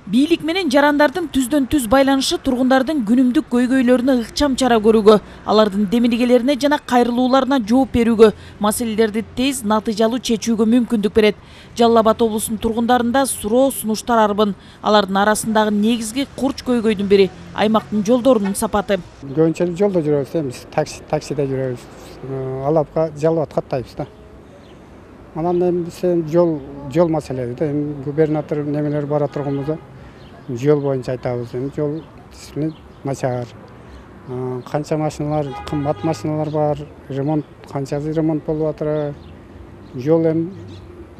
Бийлик менен жарандардын түздөн түз байланышы тургундардын күнүмдүк көйгөйлөрүнө ыкчам чара көрүүгө, алардын демилгелерине жана кайрылууларына жооп берүүгө, маселелерди тез натыйжалуу чечүүгө мүмкүндүк берет. Жалал Абад облусунун тургундарында суроо сунуштар арбын. Алардын арасындагы негизги курч көйгөйдүн бири аймактын жолдорунун сапаты. Көбүнчө жолдо жүрөбүз, эмес таксиде жүрөбүз. Алапка Жалал Абадка каттайбыз да. Анан эми жол маселеси да, губернатор немелер бара турганыбызда жол боюнча айтабыз. Жол начар. Канча машиналар, кымбат машиналар бар, канчасы ремонт болуп атыр. Жол эми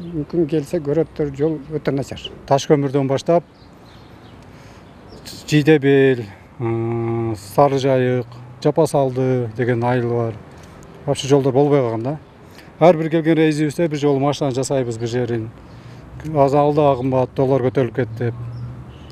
мүмкүн келсе көрөттөр, жол өтө начар. Таш көмүрдөн баштап Жидебел, Сары Жайык, Жапасалды деген айыл бар. Вообще жолдор болбой калган да. Ар бир келген рейсибизде бир жолу машина жасайбыз бир жерин. Алда кымбат, доллар көтөрүлүп кетти.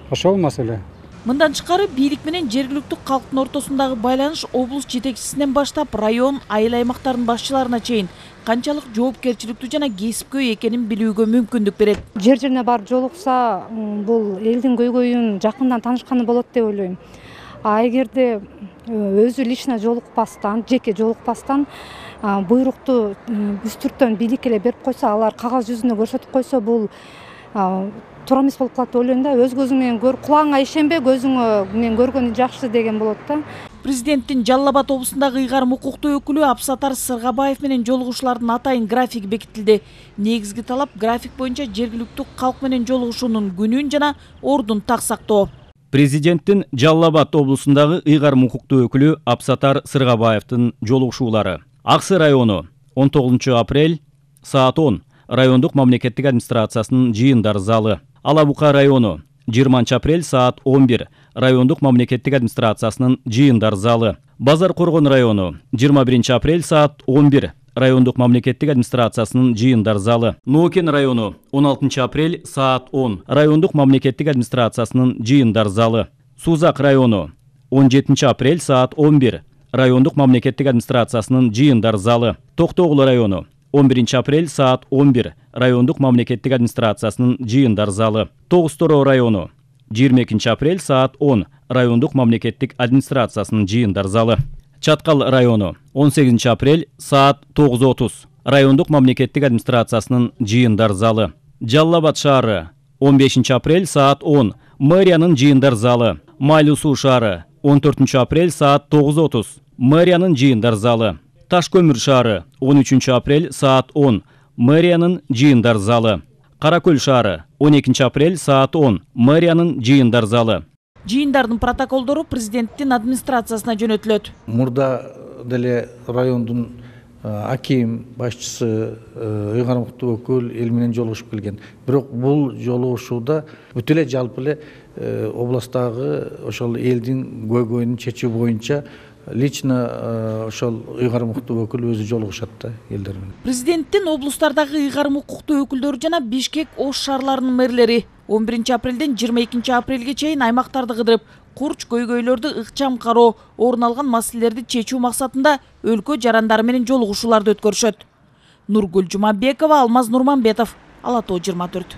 Ошол маселе. Мындан тышкары бийлик менен жергиликтүү калктын ортосундагы байланыш облус жетекчисинен баштап район, айыл аймактардын башчыларына чейин канчалык жоопкерчиликтүү жана кесипкөй экенин билүүгө мүмкүндүк берет. Жер-жерине барып жолукса, бул элдин көйгөйүн жакындан таанышканы болот деп ойлойм. А эгерде өзү лично жолукпастан, жеке жолукпастан буйрукту үстүрттөн бийлик эле берип койсо, алар кагаз жүзүндө көрсөтүп койсо, бул туура эмес болуп калат деп ойлойм да. Өз көзүң менен көр, кулагыңа ишенбе, көзүң менен көргөнү жакшы деген болот да. Президенттин Жалал Абад облусундагы ыйгарым укуктуу өкүлү Апсатар Сыргабаев менен жолугушуулардын атайын графиги бекитилди. Негизги талап график боюнча жергиликтүү калк менен жолугушуунун күнүн жана ордун так сактоо. Президенттин Жалал Абад облусундагы ыйгарым укуктуу өкүлү Апсатар Сыргабаевдин жолугушуулары. Аксы району 19 апрель саат 10 райондук мамлекеттик администрациясынын жыйындар залы. Алабука району 20 апрель саат 11 райондук мамлекеттик администрациясынын жыйындар залы. Базар Коргон району 21 апрель саат 11 райондук мамлекеттик администрациясынын жыйындар залы. Нуукен району 16 апрель саат 10 райондук мамлекеттик администрациясынын жыйындар залы. Сузак району 17 апрель саат 11 райондук мамлекеттик администрациясынын жыйындар залы. Токтогул району 11 апрель саат 11 райондук мамлекеттик администрациясынын жыйындар залы. Тогуз-Тороо району 22 апрель саат 10 райондук мамлекеттик администрациясынын жыйындар залы. Чаткал району 18 апрель саат 9:30 райондук мамлекеттик администрациясынын жыйындар залы. Жалал Абад шаары 15 апрель саат 10 мэриянын жыйындар залы. Майлуу Суу шаары 14 апрель саат 9:30 мэриянын жыйындар залы. Таш көмүр шаары 13 апрель саат 10 мэриянын жыйындар залы. Каракөл шаары 12 апрель саат 10 мэриянын жыйындар залы. Жыйындардын протоколдору президенттин администрациясына жөнөтүлөт. Мурда деле райондун аким башчысы, ыйгарым укуктуу өкүл эл менен жолугушуп келген. Бирок бул жолугушууда бүт эле жалпы эле областагы ошол элдин көйгөйүн чечүү боюнча лично ошол ыйгарым укуктуу өкүл өзү жолугушат да элдер менен. Президенттин облустардагы ыйгарым укуктуу өкүлдөрү жана Бишкек, Ош шаарларынын мэрлери 11 апрелден 22 апрелге чейин аймактарды кыдырып, курч көйгөйлөрдү ыкчам кароо, орун алган маселелерди чечүү максатында өлкө жарандары менен жолугушууларды өткөрүшөт. Нургүл Жумабекова, Алмаз Нурманбетов, Ала Тоо 24.